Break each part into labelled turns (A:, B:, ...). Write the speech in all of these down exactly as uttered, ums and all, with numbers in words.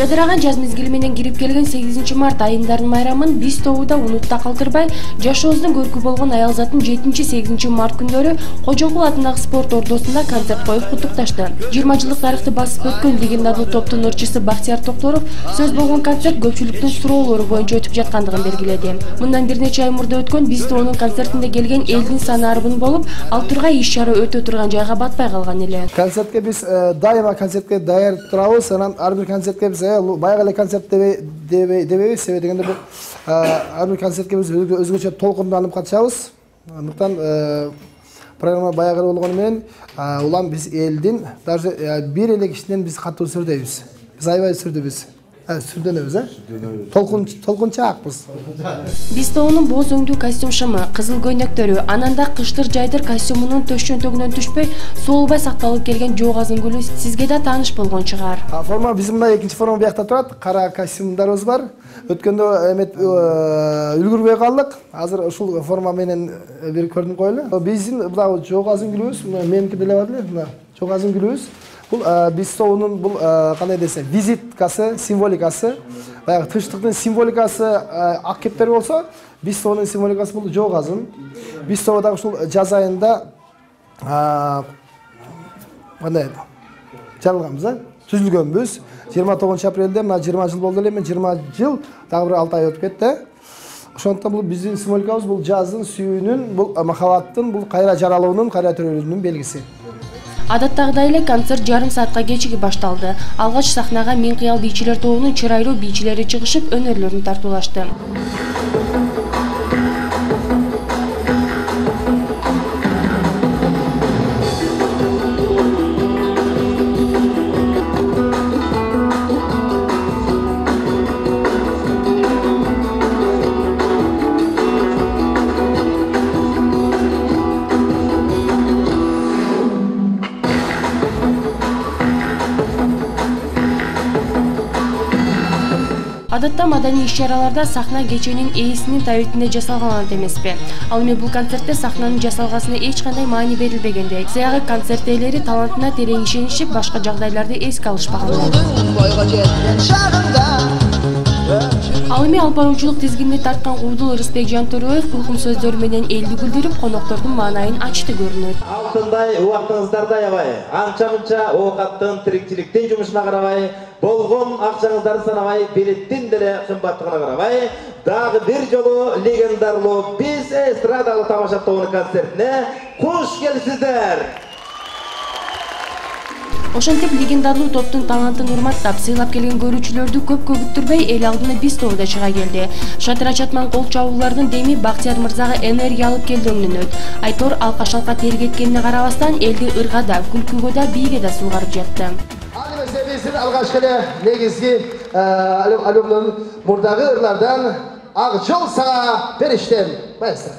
A: Жадыраган жаз мезгили менен кирип келген сегизинчи март айындарынын майрамын биз тобуда унутта калтырбай, жашообуздун көркү болгон аялзатын жетинчи сегизинчи март күндөрү Кожокул атындагы спорт ордосунда концерт коюп куттукташты. жыйырма жылдык тарыхты басып өткөн легендарлуу топтун ырчысы Бактияр Токторов сөз болгон концерт көпчүлүктүн суроолору боюнча өтүп жаткандыгын белгиледи. Мындан бир нече ай мурда өткөн биз тобунун концертинде келген элдин саны арбын болуп, ал тургай иш-чара өтө турган жайга батпай калган эле.
B: Концертке биз дайыма концертке даяр турабыз. Анан ар бир концертке биз баягы эле концерт дебейбиз, себеби дегенде бул ар бир концертке биз өзгөчө толкунданып катышабыз. Андыктан программа баягы болгону менен улам биз элдин даже бир эле кишиден биз катуу сүрдөйбүз. Биз аябай сүрдөбүз. Сүрдөнөбүз, э? Толкун толкунчаакпыз.
A: Биз тобунун боз өңдүү костюм шымы, кызыл көйнөктөрү, ананда кыштыр жайдыр костюмунун төш чөнтөгүнөн түшпөй, соолбай сакталып келген жок азын гүлү сизге да тааныш болгон чыгар.
B: Форма биздин мына экинчи форма биякта турат. Кара костюмдарыбыз бар. Өткөндө эмет үлгүрбөй калдык. Азыр ушул форма менен бир көрүнүп коелу. Биздин мына жок азын гүлүбүз, меники деле бар эле, мына жок азын гүлүбүз. Бул биз тобунун бул кандай десе, визиткасы, символикасы. Баягы тынчтыктын символикасы ак кептер болсо, биз тобунун символикасы бул жок азын. Биз тобу дагы ушул жаз айында кандай жаралганбыз, а? Түзүлгөнбүз. жыйырма тогузунчу апрелде мына жыйырма жыл болду эле, мен жыйырма жыл, дагы бир алты ай өтүп кетти. Ошондуктан бул биздин символикабыз бул жаздын сүйүүнүн, бул махабаттын, бул кайра жаралуунун, кайра төрөлүүнүн белгиси.
A: Адаттагыдай эле концерт жарым саатка кечиги башталды. Алгач сахнага Мен кыял бийчилер тобунун чырайлуу бийчилери чыгышып, өнөрлөрүн тартуулашты. Адатта маданий иш-чараларда сахна кеченин ээсинин табитинде жасалган эмеспи. Ал эми бул концертте сахнанын жасалгасына эч кандай маани берилбегендей, сыягы концерт ээлери талантына терең ишенишип, башка жагдайларды эске алышпаган. Ал эми алып баруучулук тизгинини тарткан Куудул Ырысбек Жантөреев кулкум сөздөрү менен элди күлдүрүп, коноктордун маанайын ачты көрүнөт.
C: Алтындай убактыңыздарда аябай, анча-мынча оокаттын, тирикчиликтин жумушуна карабай, болгон акчаңыздарды санабай, билеттин деле кымбаттыгына карабай, дагы бир жолу легендарлуу биз эстрадалык тамаша тобунун концертине куш келипсиздер.
A: Ошентип легендарлуу топтун талантын урматтап, сыйлап келген көрүүчүлөрдү көпкө күттүрбөй эл алдына биз тобу да чыга келди. Шатыра чатман кол чабуулардын деми Бактияр мырзага энергия алып келди өңнөнөт. Айтор алка-шалка тергеткенине карабастан элди ырга да, күлкүгө да, бийге да суугарып жатты.
B: Аны биздин алгачкы эле негизги альбомдун мурдагы ырлардан Ак жол сага бериштем. Маэстро.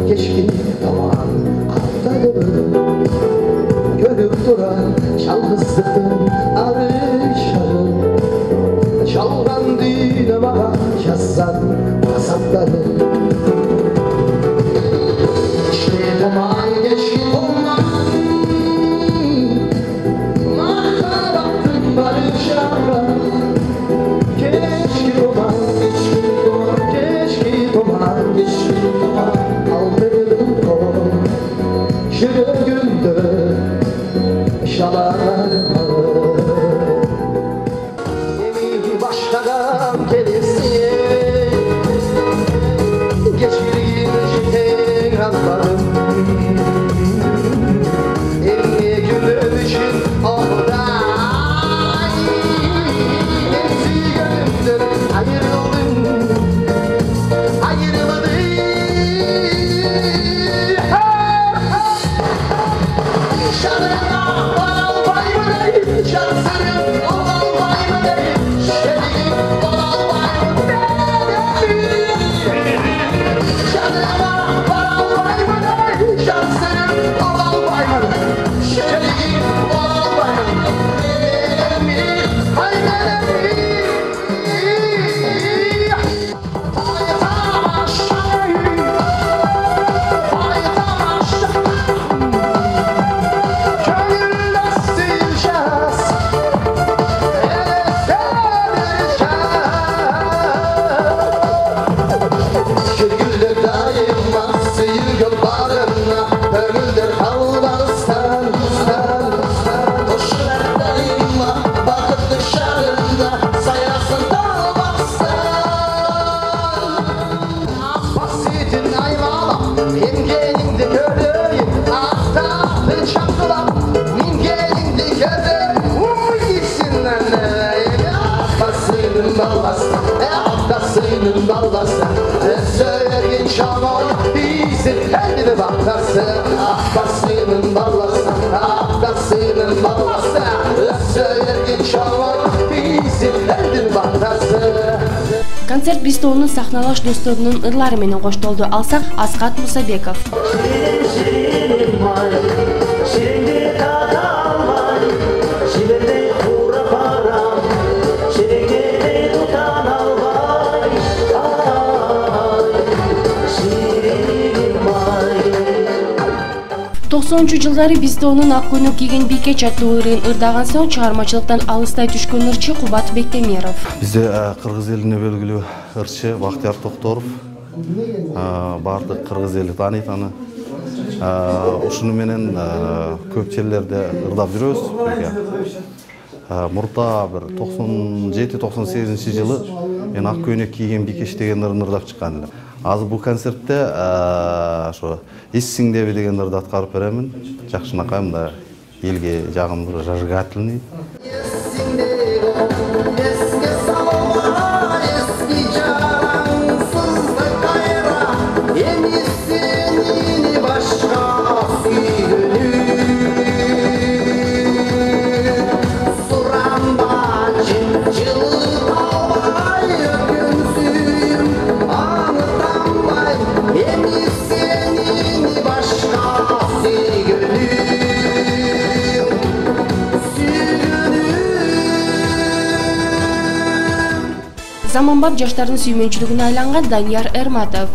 B: Keşkin aman atladım görüp duran çalgısın arışarım çalgan
A: Концерт Бистоунун сахналаш досторунун ырлары менен коштолду. Алсак Аскат Мусабеков. токсонунчу жылдары Бистоунун ак көйнөк кийген бийке аттуу ырын ырдаган соң чыгармачылыктан алыстай түшкөн ырчы Кубат Бектемиров.
D: Бизде кыргыз элине белгилүү ырчы Бактияр Токторов. Бардык кыргыз эли тааныйт аны. Ушуну менен көп жерлерде ырдап жүрөбүз. Мурда бир токсон жети токсон сегизинчи жылы мен ак көйнөк кийген бийкеш деген ырын ырдап чыккан элем. Азыр бул концертте ошо эссиңдеби деген ырды аткарып беремин. Жакшынакай мында элге жагымдуу зажигательный.
A: Заманбап жаштардын сүймөнчүлүгүнө айланган Данияр Эрматов.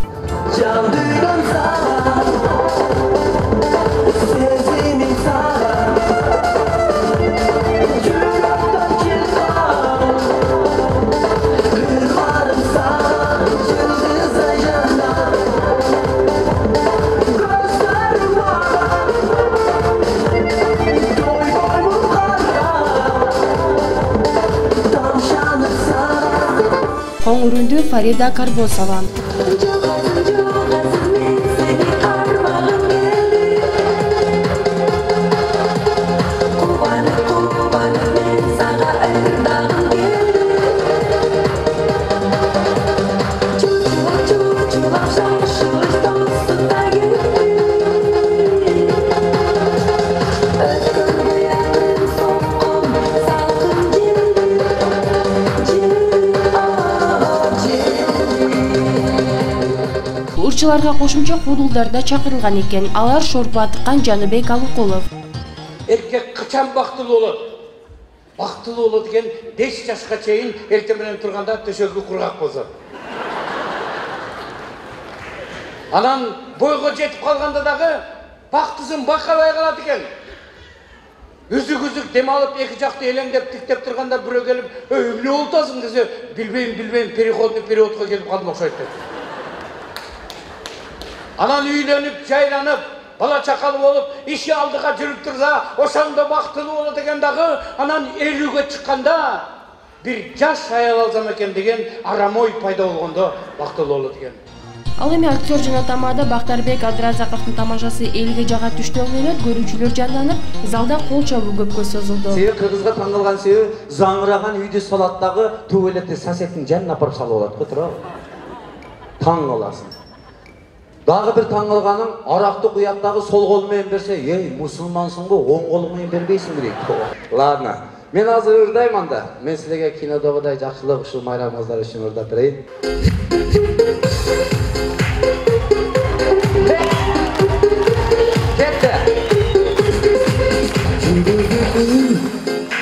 A: Коңурунду Фарида Карбосова. Урчуларга кошумча куудулдар да чакырылган экен. Алар Шорпу Атыккан, Жаныбек Алыкулов.
E: Эркек качан бактылуу болот? Бактылуу болот экен беш жашка чейин эртең менен турганда төшөгү кургак болсо. Анан бойго жетип калганда дагы бактысын бакалай калат экен. Үзүк-үзүк дем алып эки жакты элеңдеп тиктеп турганда бирөө келип, "Эй, эмне болуп атасың?" десе, "Билбейм, билбейм, переходный периодко келип калдым окшойт" деп. Анан үйлөнүп, жайланып, бала чакалы болуп, иши алдыга жүрүп турса, ошондо бактылуу болот экен дагы, анан элүүгө чыкканда бир жаш аял алсам экен деген арам ой пайда болгондо бактылуу болот экен.
A: Ал эми актер жана тамада Бактарбек Абдыразаковдун тамашасы элге жага түштү менен көрүүчүлөр жанданып, залда кол чабуу көпкө созулду.
C: Себеби кыргызга таң калган себеби заңыраган үйдү салат дагы туалетти соседтин жанына апарып салып алат го, туурабы? Таң каласың. Дагы бир таң калганың, аракты куят дагы сол кол менен берсе, "Эй, мусулмансың го, оң кол менен бербейсиңби?" дейт. Ладно. Мен азыр ырдайм анда. Мен силерге кинодогудай жакшылык ушул майрамыңыздар үчүн ырдап берейин.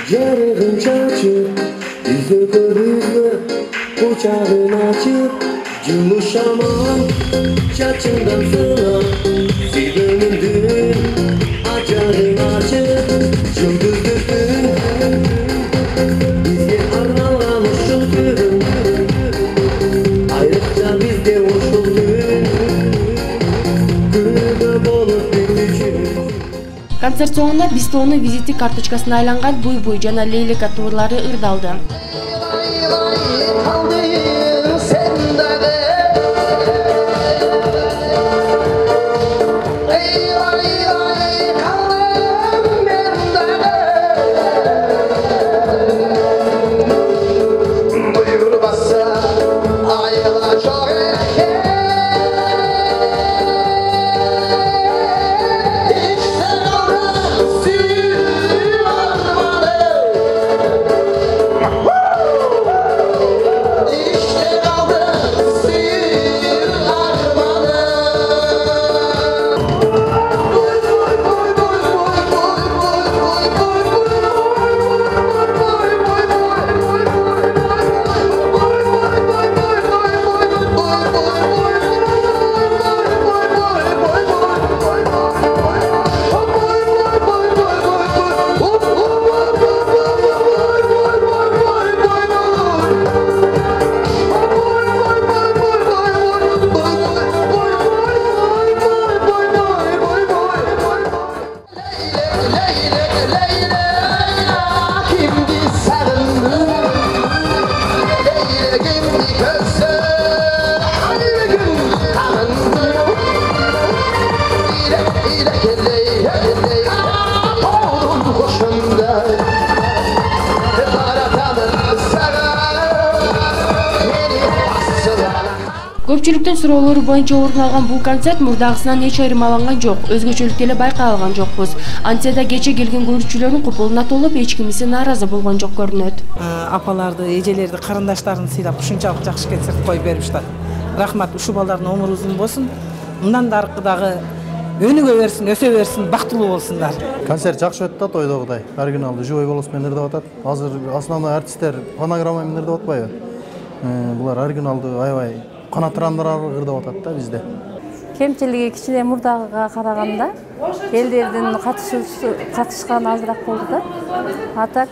F: Yarığın çaçıp, yüzü kırmızı, uçağın açıp, yumuşamam, çaçından sıla, zilinin dün, açarın açıp, yıldız düzün, bizge arnalan uşul gün, ayrıca bizde uşul gün, günde bolup bütün.
A: Концерт соңунда Бистоонун визиттик карточкасына айланган Буй-буй жана Лейлек аттуулары ырдалды. Көпчүлүктүн суроолору боюнча орун алган бул концерт мурдагысынан эч айырмаланган жок. Өзгөчөлүк деле байкай алган жокпуз. Антсе да кече келген көрүүчүлөрдүн купулуна толуп, эч кимиси нааразы болгон жок көрүнөт.
G: Апаларды, эжелерди, карындаштарын сыйлап ушунчалык жакшы концерт коюп бериптир. Рахмат, ушул балдардын өмүрү узун болсун. Мындан да аркы дагы өнүгө берсин, өсө берсин, бактылуу болсундар.
H: Концерт жакшы өттү да, тойдогудай. Оригиналдуу живой голос менен ырдап атат. Азыр основной артисттер фонограмма менен ырдап атпайбы? Булар оригиналдуу аябай канаттырандырарлык ырдап атат да бизде.
I: Кемчилиги кичине мурдагыга караганда элдердин катышканы азыраак болду да. Атак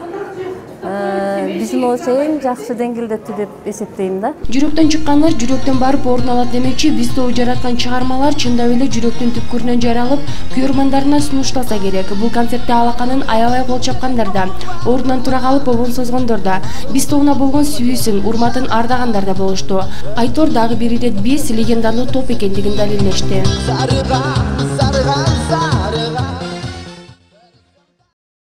I: биздин ойчо эң жакшы деңгээлдетти деп эсептейм да.
A: Жүрөктөн чыккандар жүрөктөн барып орун алат демекчи, Бистоо жараткан чыгармалар чындап эле жүрөктүн түпкүрүнөн жаралып, көрөрмандарына сунушталса керек. Бул концертте алаканын аябай кол чапкандар да, ордунан тура калып обон созгондор да, Бистоона болгон сүйүүсүн, урматын ардагандар да болушту. Айтор дагы бир ирет биз легендалуу топ экендигин далилдешти.